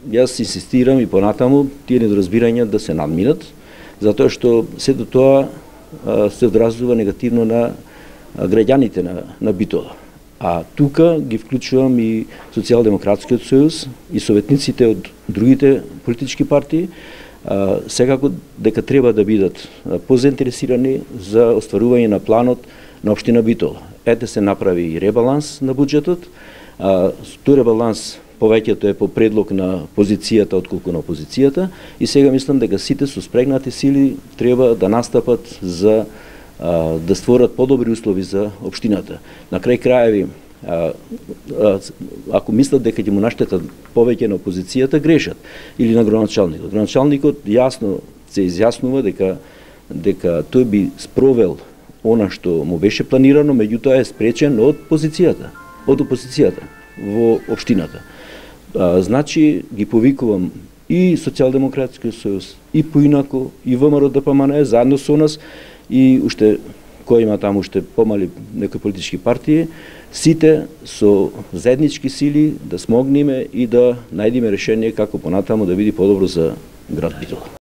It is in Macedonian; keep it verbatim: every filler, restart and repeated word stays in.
Јас инсистирам и понатаму тие недоразбирања да се надминат, затоа што сето тоа се одразува негативно на граѓаните на, на Битола. А тука ги вклучувам и Социјалдемократскиот сојуз и советниците од другите политички партии, секако дека треба да бидат позаинтересирани за остварување на планот на општина Битола. Ете се направи и ребаланс на буџетот, тој ребаланс повеќето е по предлог на позицијата отколку на опозицијата и сега мислам дека сите со спрегнати сили треба да настапат за а, да створат подобри услови за општината. На крај краеви, а, а, ако мислат дека ќе му наштетат повеќе на опозицијата, грешат. Или на градоначалникот. Градоначалникот јасно се изјаснува дека дека тој би спровел она што му беше планирано, меѓутоа е спречен од позицијата, од опозицијата во општината. А, значи ги повикувам и Социјалдемократскиот сојуз, и поинако, и ВМРО Д П М Н заедно со нас, и уште кој има таму уште помали некои политички партии, сите со заеднички сили да смогнеме и да најдеме решение како понатаму да биде подобро за град Битола.